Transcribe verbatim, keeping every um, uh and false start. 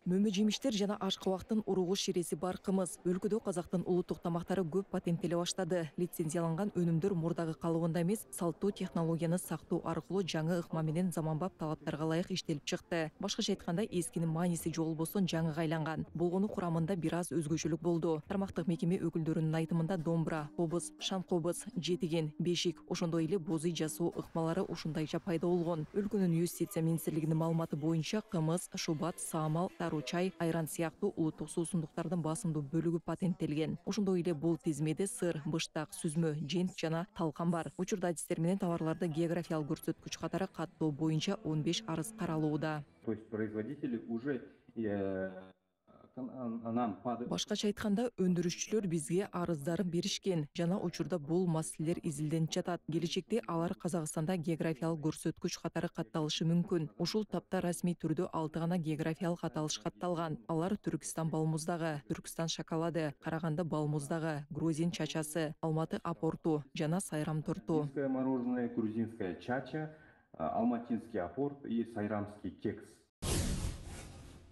Мөмө жемиштер жана аш кабактын уругу ширеси бар кымыз. Өлкөдө казактын улуттук тамактары көп патенттеле баштады. Лицензияланган өнүмдөр мурдагы калыбында эмес, салттуу технологияны сактоо аркылуу жаңы ыкма менен заманбап талаптарга ылайык иштелип чыкты. Башкача айтканда, эскинин мааниси жоголбостон жаңыга айланган. Болгону курамында бир аз өзгөчөлүк болду. Тармактык мекеме өкүлдөрүнүн айтымында домбура, кобуз, шан кобуз, жетиген, бешик, ошондой эле боз үй жасоо ыкмалары ушундайча пайда болгон. Өлкөнүн юстиция министрлигинин маалыматы боюнча, кымыз, шубат, саамал, чай, айран сыяктуу улуттук суусундуктардын басымдуу бөлүгү патенттелген. Ошондой эле бул тизмеде сыр, быштак, сүзмө, жент жана талкан бар. Учурда адистер менен товарларды географиялык көрсөткүч катары каттоо боюнча он беш арыз каралууда. То есть производители уже Башкача айтканда, өндүрүшчүлөр бизге арыздарын беришкен жана учурда бул маселелер изилденип жатат. Келечекте алар Казакстанда географиялык көрсөткүч катары катталышы мүмкүн. Ушул тапта расмий түрдө алты гана географиялык аталыш катталган. Алар Түркстан балмуздагы, Түркстан шоколады, Караганды балмуздагы, Грузин чачасы, Алматы апорту жана Сайрам торту. Мороженое, грузинская чача, алматинский апорт и сайрамский кекс.